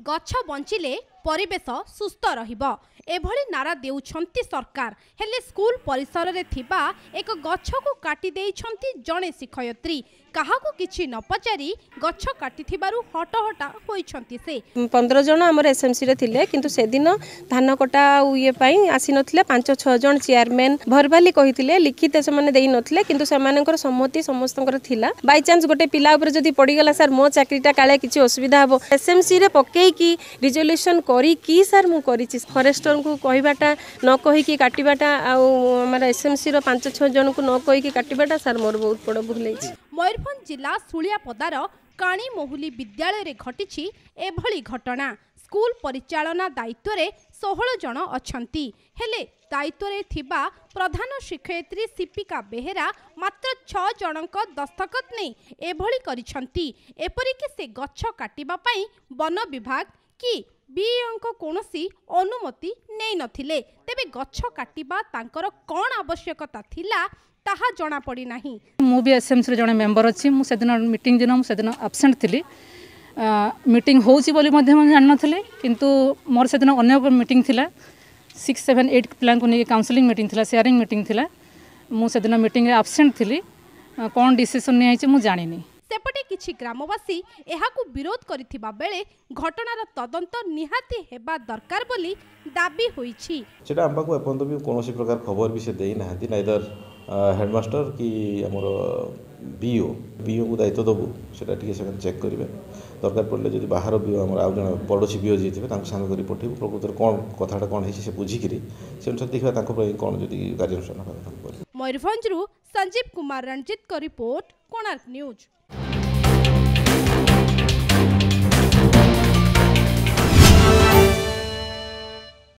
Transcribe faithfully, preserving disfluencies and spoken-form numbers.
ଗଛ ବଞ୍ଚିଲେ ପରିବେଶ ସୁସ୍ଥ ରହିବ, ଏଭଳି ନାରା ଦେଉଛନ୍ତି ସରକାର। ହେଲେ ସ୍କୁଲ ପରିସରରେ ଥିବା ଏକ ଗଛକୁ କାଟି ଦେଇଛନ୍ତି ଜଣେ ଶିକ୍ଷୟିତ୍ରୀ। କାହାକୁ କିଛି ନ ପଚାରି ଗଛ କାଟିଥିବାରୁ ହଟହଟା ହୋଇଛନ୍ତି ସେ। ପନ୍ଦର ଜଣ ଆମର ଏସ୍ଏମ୍ସିରେ ଥିଲେ, କିନ୍ତୁ ସେଦିନ ଧାନ କଟା ଆଉ ଇଏ ପାଇଁ ଆସିନଥିଲେ। ପାଞ୍ଚ ଛଅ ଜଣ ଚେୟାରମ୍ୟାନ୍ ଭରବାଲି କହିଥିଲେ, ଲିଖିତ ସେମାନେ ଦେଇନଥିଲେ, କିନ୍ତୁ ସେମାନଙ୍କର ସମ୍ମତି ସମସ୍ତଙ୍କର ଥିଲା। ବାଇଚାନ୍ସ ଗୋଟେ ପିଲା ଉପରେ ଯଦି ପଡ଼ିଗଲା ସାର୍, ମୋ ଚାକିରିଟା କାଳେ କିଛି ଅସୁବିଧା ହେବ। ଏସ୍ଏମ୍ସିରେ ପକେଇକି ରିଜଲ୍ୟୁସନ୍ କରିକି ସାର୍ ମୁଁ କରିଛି। ଫରେଷ୍ଟରଙ୍କୁ କହିବାଟା, ନ କହିକି କାଟିବାଟା, ଆଉ ଆମର ଏସ୍ଏମ୍ସିର ପାଞ୍ଚ ଛଅ ଜଣଙ୍କୁ ନ କହିକି କାଟିବାଟା ସାର୍ ମୋର ବହୁତ ବଡ଼ ଭୁଲ ହେଇଛି। ମୟୂରଭଞ୍ଜ ଜିଲ୍ଲା ଶୁଳିଆପଦାର କାଣିମହୁଲି ବିଦ୍ୟାଳୟରେ ଘଟିଛି ଏଭଳି ଘଟଣା। ସ୍କୁଲ ପରିଚାଳନା ଦାୟିତ୍ୱରେ ଷୋହଳ ଜଣ ଅଛନ୍ତି, ହେଲେ ଦାୟିତ୍ୱରେ ଥିବା ପ୍ରଧାନ ଶିକ୍ଷୟିତ୍ରୀ ସିପିକା ବେହେରା ମାତ୍ର ଛଅ ଜଣଙ୍କ ଦସ୍ତଖତ ନେଇ ଏଭଳି କରିଛନ୍ତି। ଏପରିକି ସେ ଗଛ କାଟିବା ପାଇଁ ବନ ବିଭାଗ କି ବିଇଓଙ୍କ କୌଣସି ଅନୁମତି ନେଇନଥିଲେ। ତେବେ ଗଛ କାଟିବା ତାଙ୍କର କ'ଣ ଆବଶ୍ୟକତା ଥିଲା, ତାହା ଜଣାପଡ଼ିନାହିଁ। ମୁଁ ବି ଏସ୍ଏମ୍ସିର ଜଣେ ମେମ୍ବର ଅଛି। ମୁଁ ସେଦିନ ମିଟିଂ ଦିନ ମୁଁ ସେଦିନ ଆବସେଣ୍ଟ ଥିଲି। ମିଟିଂ ହେଉଛି ବୋଲି ମଧ୍ୟ ମୁଁ ଜାଣିନଥିଲି, କିନ୍ତୁ ମୋର ସେଦିନ ଅନ୍ୟ ଏକ ମିଟିଂ ଥିଲା। ସିକ୍ସ ସେଭେନ୍ ଏଇଟ୍ ପିଲାଙ୍କୁ ନେଇକି କାଉନସିଲିଂ ମିଟିଂ ଥିଲା, ସେୟାରିଂ ମିଟିଂ ଥିଲା। ମୁଁ ସେଦିନ ମିଟିଂରେ ଆବସେଣ୍ଟ ଥିଲି। କ'ଣ ଡିସିସନ୍ ନିଆହେଇଛି ମୁଁ ଜାଣିନି। ସେପଟେ କିଛି ଗ୍ରାମବାସୀ ଏହାକୁ ବିରୋଧ କରିଥିବା ବେଳେ ଘଟଣାର ତଦନ୍ତ ନିହାତି ହେବା ଦରକାର ବୋଲି ଦାବି ହୋଇଛି। ସେଟା ଆମ ପାଖକୁ ଏପର୍ଯ୍ୟନ୍ତ ବି କୌଣସି ପ୍ରକାର ଖବର ବି ସେ ଦେଇନାହାନ୍ତି, ନାଇଦର ହେଡ଼ମାଷ୍ଟର କି ଆମର ବିଓ। ବିଓକୁ ଦାୟିତ୍ୱ ଦେବୁ, ସେଟା ଟିକେ ସେମାନେ ଚେକ୍ କରିବେ। ଦରକାର ପଡ଼ିଲେ ଯଦି ବାହାର ବିଓ, ଆମର ଆଉ ଜଣେ ପଡ଼ୋଶୀ ବିଓ ଯିଏ ଥିବେ, ତାଙ୍କୁ ସାଙ୍ଗ କରି ପଠେଇବୁ। ପ୍ରକୃତରେ କ'ଣ କଥାଟା କ'ଣ ହେଇଛି ସେ ବୁଝିକିରି ସେ ଅନୁସାରେ ଦେଖିବା ତାଙ୍କ ପାଇଁ କ'ଣ ଯଦି କାର୍ଯ୍ୟାନୁଷ୍ଠାନ ହେବା କଥା କରିବେ। ମୟୂରଭଞ୍ଜରୁ ସଞ୍ଜୀବ କୁମାର ରଣଜିତଙ୍କ ରିପୋର୍ଟ, କୋଣାର୍କ ନ୍ୟୁଜ୍।